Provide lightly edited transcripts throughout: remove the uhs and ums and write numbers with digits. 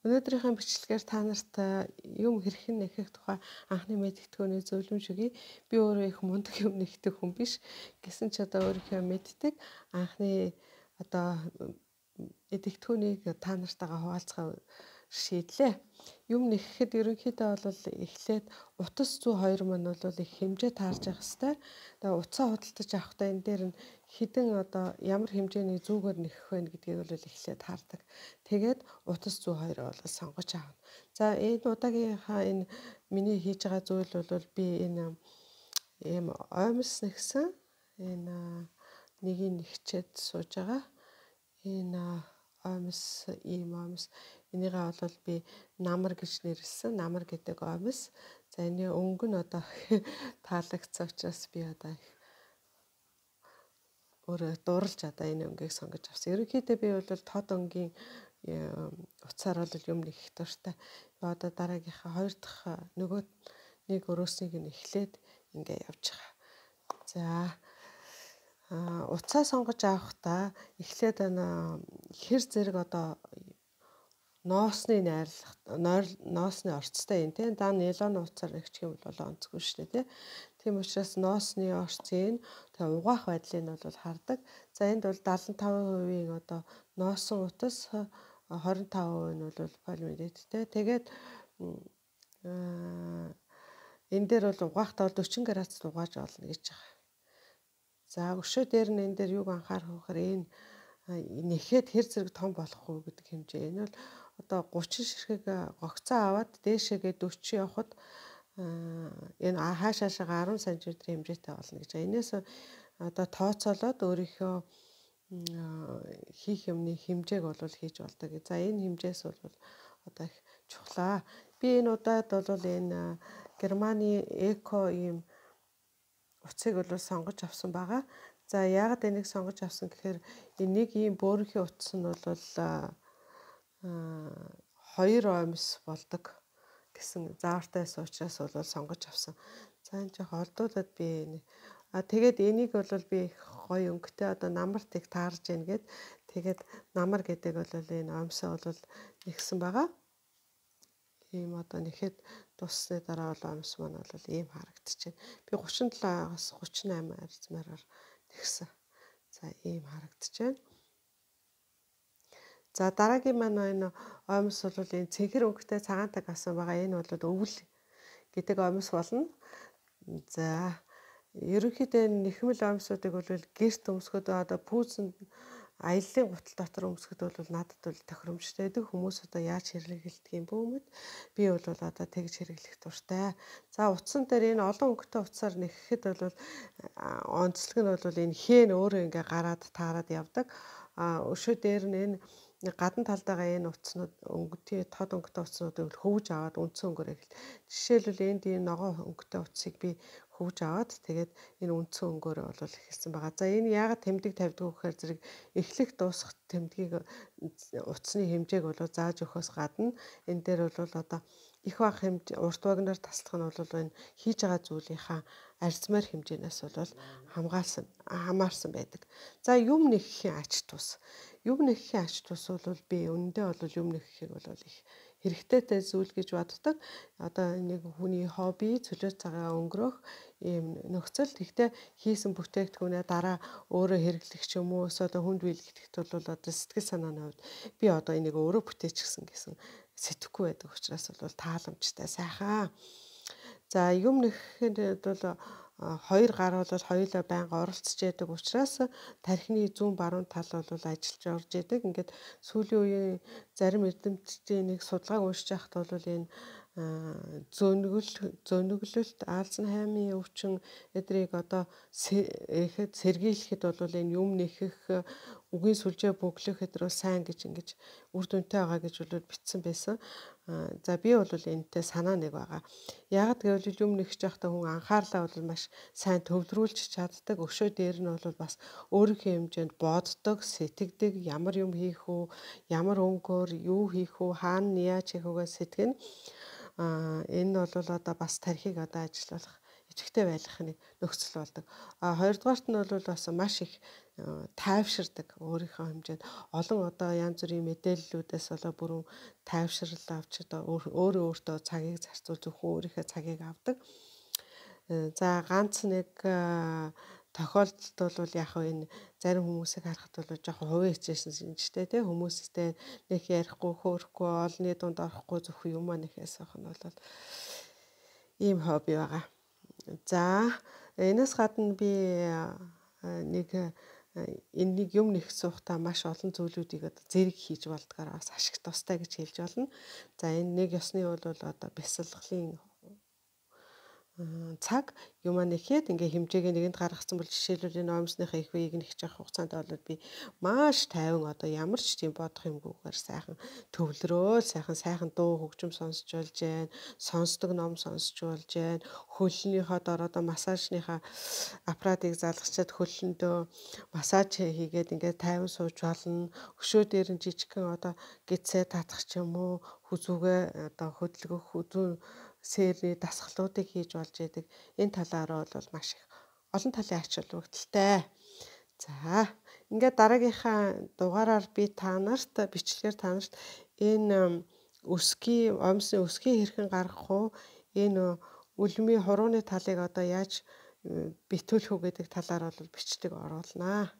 Өнөөдрийнхөө бичлэгээр та нарт юм хэрхэн нэхэх тухай анхны мэдгэдгөөний зөвлөмж өгье. Би өөрөө их мундаг юм нэхдэг хүн биш. Гэсэн ч одоо өөрийнхөө мэддэг анхны одоо мэдгэдгөөнийг та нартайгаа хуваалцахаа шийдлээ. Юм нэхэхэд ерөнхийдөө бол эхлээд утас зүй 2 маань бол их хэмжээ таарж явах хэрэгтэй. Тэгээ утсаа худалдаж авахдаа энэ дээр нь хідэн одоо ямар хэмжээний зүүгээр нэхэх вэ гэдгийг бол эхлээд хардаг. Тэгээд утас зүй 2 бол сонгож аавна. За энэ удаагийнхаа энэ миний хийж байгаа зүйл бол би энэ ийм оймс нэгсэн энэ нэгийг нэгчээд сууж байгаа. Энэ оймс энийгээ бол би намар гэж нэрлсэн. Намар гэдэг оймс. За энэ өнгө нь одоо таалагдсан учраас би одоо өөрөө дурлж одоо энэ өнгийг сонгож авсан. Ерөнхийдөө би бол тод өнгийн утсаар бол юм нэхэх дуртай. Одоо дараагийнхаа 2 дахь нөгөө нэг өрөөснийг нь эхлээд ингээ явж байгаа. За утсаа сонгож авахдаа эхлээд хэр зэрэг одоо ноосны ноосны орцтой юм тийм. Даа нилон утсаар нэгчих юм бол онцгүй шүү дээ тийм. Тийм учраас ноосны орцын тэгээ угаах байдлыг нь бол хардаг. За энд бол 75% одоо ноосон утас 25% нь бол полимеридтэй. Тэгээд энэ дээр бол угаахтаа 40 градусд угааж олно гэж байгаа. За өшөө дээр нь энэ дээр юуг анхаарах вэ гэхээр энэ нэхэд хэр зэрэг том болох вэ гэдэг хэмжээ. Энэ бол одоо 30 ширхэг гогцоо аваад дээшээгээ 40 явахад энэ хаашаашаа 10 см хэмжээтэй болно гэж. Энээс одоо тооцоолоод өөрийнхөө хийх юмны хэмжээг бол хийж болдог. За энэ хэмжээс бол одоо их чухлаа. Би энэ удаад бол энэ Германы эко ийм утсыг бол сонгож авсан байгаа. За яагаад энийг сонгож авсан гэхээр энэ нэг ийм бөөрийнхээ утас нь бол 2 оймс болдог гэсэн заавартай байсан учраас бол сонгож авсан. За энэ жоох олдуулаад би тэгээд энийг бол би их гоё өнгөтэй одоо намарт их таарж яана гэд тэгээд намар гэдэг бол энэ оймсоо бол нэгсэн байгаа. Ийм одоо нэхэд дуссны дараа бол оймс маань бол ийм харагдчихэв. Би 37-аас 38 размераар тэгсэн. За ийм харагдчихэв. За дараагийн маань энэ оймс бол энэ цэнхэр өнгөтэй цагаантай гасан байгаа. Энэ бол өвөл гэдэг оймс болно. За ерөнхийдөө нэхмэл оймсуудыг бол гэрт өмсгöd одоо пүүсэнд аяллаа гутал дотор өмсгöd бол надад бол тохиромжтой байдаг. Хүмүүс одоо яаж хэрэглэдэг юм бөөмөд би бол одоо тэгж хэрэглэх дуртай. За утсан дээр энэ олон өнгөтэй утсаар нэхэхэд бол онцлог нь бол энэ хэн өөрөө ингээ гараад таарад явдаг. Өшөө дээр нь энэ гадна талдаагаа энэ утаснууд өнгөтэй тод өнгөтэй утаснуудыг хөвж аваад үндсэн өнгөөр эхэл. Жишээлбэл энд энэ ногоон өнгөтэй утсыг би хөвж аваад тэгээд энэ үндсэн өнгөөр бол эхэлсэн байгаа. За энэ яагаад тэмдэг тавьдаг вэ гэхээр зэрэг эхлэх дуусах тэмдгийг утасны хэмжээг бол зааж өгөхөөс гадна энэ дээр бол одоо их баг хэмжээ урт вагнаар таслах нь бол энэ хийж байгаа зүйлийнхаа арзмаар хэмжээнээс бол хамаарсан байдаг. За юм нэхэхийн ач тус. Юм нэхэхийн ач тус бол би үнэндээ бол юм нэхэхийг бол их хэрэгтэйтэй зүйл гэж боддог. Одоо нэг хүний хобби, цөлөө цагаа өнгөрөх ийм нөхцөл. Тэгтээ хийсэн бүтээгдэхүүнээ дараа өөрөө хэрэглэх ч юм уу эсвэл хүнд биелгэхэд бол одоо сэтгэл санааны хувьд би одоо энийг өөрөө бүтээчихсэн гэсэн сэтгэхгүй байдаг учраас бол тааламжтай сайхан. За юм нэхэхэд бол 2 гар бол хоёулаа байнга оролцож яадаг учраас тархины зүүн баруун тал бол ажиллаж орж яадаг. Ингээд сүүлийн үеийн зарим эрдэмтдийн нэг судалгааг уншиж байхад бол энэ зөниглөлт Альцгеймерийн өвчин эдрийг одоо сэргийлэхэд бол энэ юм нэхэх үгийн сүлжээ бөглөх эдэр бол сайн гэж ингэж үр дүнтэй байгаа гэж бол бичсэн байсан. За би бол энэтэй санаа нэг байгаа. Яагаад гэвэл юм нэхэж байхдаа хүн анхаарлаа бол маш сайн төвлөрүүлж чаддаг. Өшөө дээр нь бол бас өөрийнхөө хэмжээнд боддог, сэтгэдэг, ямар юм хийх үү, ямар өнгөөр юу хийх үү, хаана яаж хийх үгээ сэтгэнэ. Энэ бол одоо бас тархийг одоо ажиллуулах өвчтгтэй байлгахны нөхцөл болдог. Хоёрдугаарт нь бол бас маш их тайвширдаг өөрийнхөө хэмжээнд олон одоо янз бүрийн мэдээллүүдээс болоо бүрэн тайвшрал авч одоо өөрөө өөртөө цагийг зарцуул зөвхөн өөрийнхөө цагийг авдаг. За ганц нэг тохиолдолд бол яг энэ зарим хүмүүсийг харахад бол жоохон хувийн хичээсэн шинжтэй тий хүмүүстэй нэг ярихгүй хөөрөхгүй олонний дунд орохгүй зөвхөн юм нэхээс авах нь бол ийм хобби байгаа. За энэс гадна би нэг энэ нэг юм нэх сухтаа маш олон зүйлүүдийг одоо зэрэг хийж болдгоор бас ашиг тустай гэж хэлж болно. За энэ нэг ёсны бол одоо бясалгалын цаг юм нэхэд ингээ хэмжээг нэгэнд гаргацсан бол жишээлбэл энэ оймсныхаа их үеийг нэгж явах хугацаанд бол би маш тайван одоо ямар ч тийм бодох юмгүйгээр сайхан төвлөрөөл сайхан дуу хөгжим сонсч болж байна. Сонсдог ном сонсч болж байна. Хөлнийхөө дор одоо массажныхаа аппаратыг залгачаад хөлөндөө массаж хийгээд ингээ тайван сууж болно. Өшөө дээр нь жижигхэн одоо гидсээ татах ч юм уу хүзүүгээ одоо хөдөлгөх сэрний дасгалуудыг хийж болж байдаг. Энэ талаараа бол маш их олон талын ач холбогдолтой. За ингээд дараагийнхаа дугаараар би та нарт бичлэгээр та нарт энэ оймсны өсгий хэрхэн гаргах уу? Энэ үлмийн хурууны талыг одоо яаж битүүлэх үү гэдэг талаар бол бичлэг оруулнаа.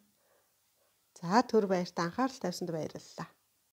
За түр баярт анхаарал тавьсанд баярлалаа.